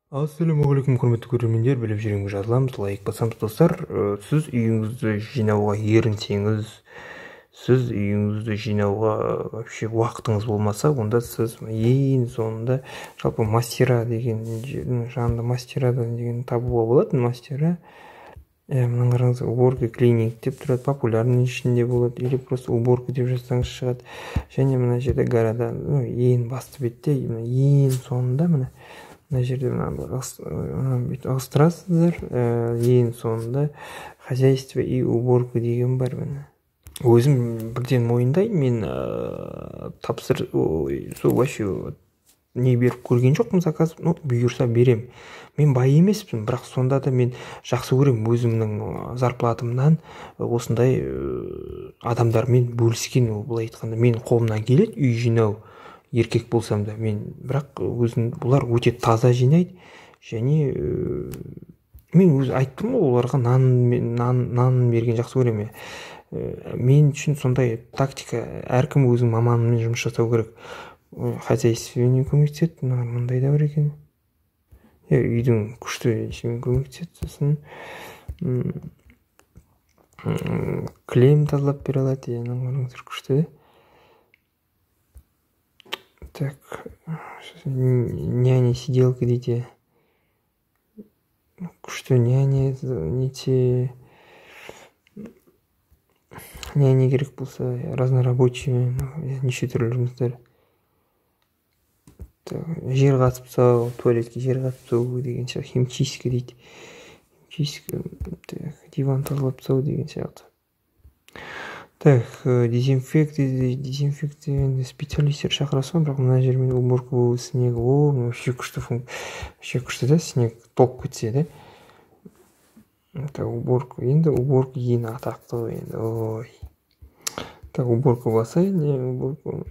Ассалаумағалейкум, құрметті көрермендер, біліп жүрегіміз жазыламыз, лайк басамыз достар. Сіз үйіңізді жинауға ерінсеңіз, сіз үйіңізді жинауға вообще уақытыңыз болмаса, онда сіз ең соңында жалпы мастера деген жердің жанында мастера деген табуға болады. Мастера мына қараңыз, уборка клиник деп тұрады, популярный ішінде болады, или просто уборка деп жазсаңыз шығады. Және мына жерде города, ең басты бетте, ең соңында мына жерде ығыстырасыздар, ең соңында хозяйство и уборка деген бар. Өзім бірден мойындаймын, мен сол вообще не беріп көрген жоқпын заказ, бұйырса берем. Мен бай емеспін, бірақ сонда да мен жақсы көрем өзімнің зарплатымнан осындай адамдармен бөліскен. Былай айтқанда мен қолымнан келеді үй жинау, еркек болсам да, бірақ бұлар өте таза жинайды. Және мен өзі айттым ғой, оларға нан берген жақсы көремін. Мен үшін сондай тактика, әркім өзінің маманымен жұмыс жасау керек. Хозяйствомен көмектеседі, мындай да бар екен. Үйдің күшті ішімен көмектеседі, сосын клем тазалап бере алады, күшті. Так, няня сиделка дейді. Күшті няня нете. Няня керек болса, разнорабочий, неше түрлі жұмыстар. Жер қатып тастау, туалетке жер қатып тастау деген сияқты, химчистка дейді. Диван тазалап тастау деген сияқты. Так, дезинфекция специалистер шақырасың, бірақ мына жермен уборка снег, вообще күшті да, снег толып кетсе да. Уборка, енді уборка ең атақты енді, ой. Так, уборка басайын, уборка.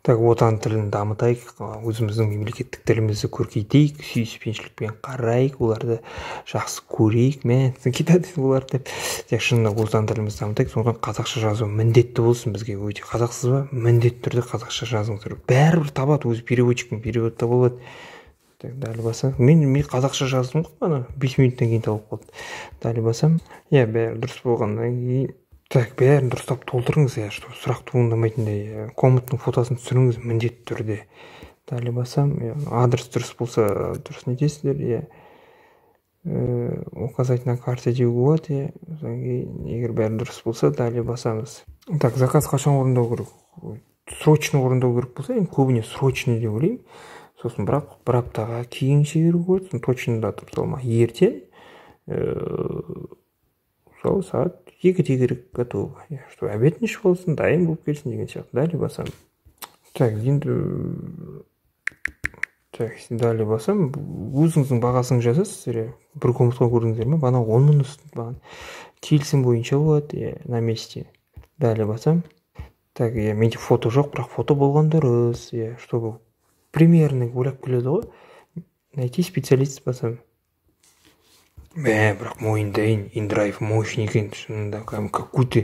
Так, отан тілін дамытайық, өзіміздің мемлекеттік тілімізді көркейтейік, сүйіспеншілікпен қарайық, оларды жақсы көрейік, китады оларды. Шынында отан тілімізді дамытайық, сондықтан қазақша жазу міндетті болсын бізге. Өте қазақсыз ба? Міндетті түрде қазақша жазыңыздар. Бәрібір табады, өзі переводчиктің переводта болады. Так, дәл басам. Мен қазақша жаздым ғой, 5 минуттан кейін тауып қалды. Дәл басам. Бәрі дұрыс болғаннан кейін. Так, бәрін дұрыстап толтырыңыз, сұрақ туындамайтындай. Комнаттың фотосын түсіріңіз міндетті түрде. Дәл басам. Адрес дұрыс болса, дұрыс нетесіздер. Указать на карте деуге болады. Егер бәрі дұрыс болса, дәл басамыз. Так, заказ қашан орындау керек? Срочно орындау керек болса, көбіне срочно деп ойлаймын. Сосын бірақ бір аптаға кейін шегеру көрді, точно датып салма. Ертең сол сағат 2-де керек готов. Что обед неш болсын, дайын болып келсін деген сияқты. Дәлі басам. Так, енді дәлі басам. Өзіңіздің бағасын жазасыз, бір комнатқа көрдіңіздер ме? Бана 10 мың үстін келісім бойынша болады, на месте. Дәлі басам. Так, менде фото жоқ, бірақ фото болған дұрыс, чтобы примерно ойлап келеді ғой. Найти специалист басам. Бірақ мойындайын, индрайв мощный екен, шынында, какой-то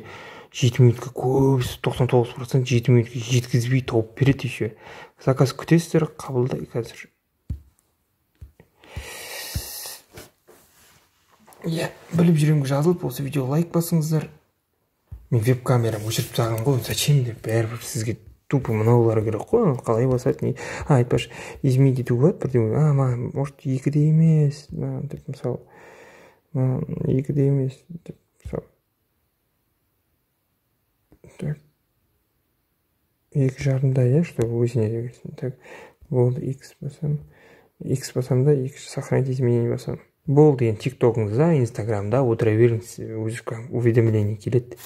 7 минутқа көбісі 99% 7 минутқа жеткізбей тауып береді еще. Заказ күтесіздер, қабылдай қазір. Біліп жүремін жазылып, осы видео лайк басыңыздар. Мен веб-камерам өшіріп тағым ғой, зачем деп, бәрібір сізге тупо мынаулар керек қой, қалай басады, айтпаш, изменить ету болады, бірден, может, 2-де емес, деп мысалы, 2-де емес, деп мысалы. Так, 2,5-да, чтобы өзіне дегенсін. Так, болды, X басам да, сохранить изменение басам. Болды, енді тиктокыңызда, инстаграмда отыра беріңіз, өзі уведомление келеді.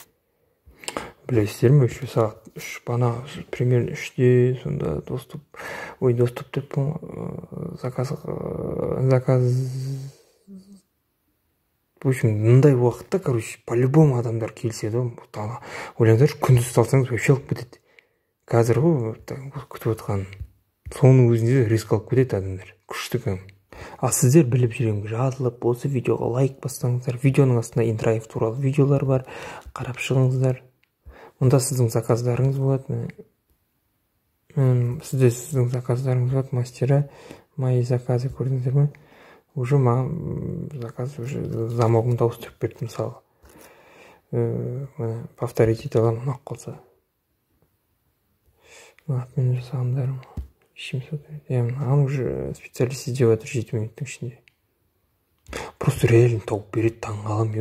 Білесіздер ме, еще сағат 3, бана примерно 3-де сонда доступ деп заказ в общем, мындай уақытта, по-любому адамдар келседі. Ойлаңдар, күндіз салсаңыз вообще алып кетеді. Қазір ғой, күтіп отқан. Соның өзінде риск алып кетеді адамдар. Күшті кәм. Сіздер біліп жүремін, жазылып, осы видеоға лайк бассаңыздар, видеоның астында индрайв туралы видеолар бар, қарап шығыңыздар. Онда сіздің заказдарыңыз болады. Сізде сіздің заказдарыңыз бар, мастера, мои заказы көрдіңіздер ме? Уже маған заказ уже замогымды ауыстырып берді, мысалы. Повторить ете аламын, ұнап қалса. Мен жасағандарым 700. Аны уже специалист іздеп жатыр 7 минуттың ішінде. Просто реально тауып береді, таң қалам,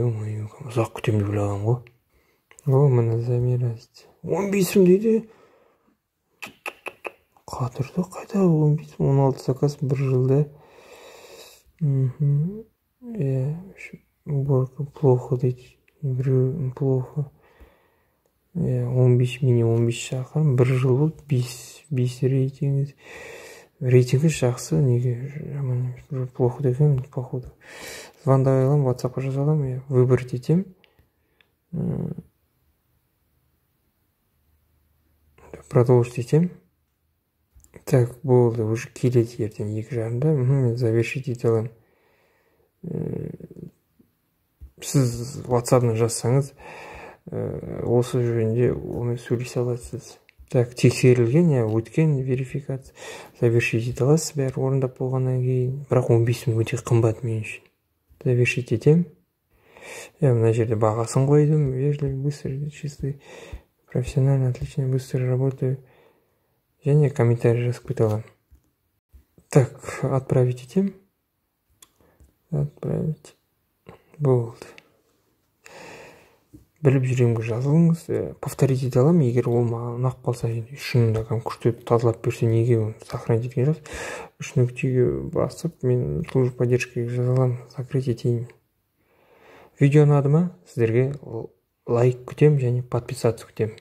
ұзақ күтемін деп ойлағам ғой. Міне замерность 15 дейді. Қатырды, қайда 15, 16 заказ бір жылда. Уборка плохо дейді. Плохо. 15 минимум 15 шақырым, бір жыл болды, 5 рейтинг. Рейтингі жақсы, неге жаман емес, плохо деген, походу. Звондай аламын, WhatsApp-қа жаза аламын, выбрать етем. Продолжить етем. Так, болды, уже келеді ертең 2:30-да. Мен завершить ете аламын. Сіз WhatsApp-на жазсаңыз, осы жөнінде оны сөйлесе аласыз. Так, тексерілген, өткен верификация, завершить ете аласыз, бәрі орындап болғаннан кейін. Бірақ 15 мың өте қымбат мен үшін. Завершить етем. Мына жерде бағасын қойдым. Вежливый, быстрый, чистый, профессионально, отлично, быстро работаю. Және комментарий жазып кете аламын. Так, отправить етем. Отправить. Болды. Біліп жүремге жазылыңыз. Повторить ете аламын, егер ол маған ұнап қалса, шынында күшті тазалап берсе, неге оны сохранить еткен жаз. 3 нүктеге басып, мен служба поддержкаға жаза аламын, закрыть етейін. Видео ұнады ма? Сіздерге лайк күтем және подписаться күтем.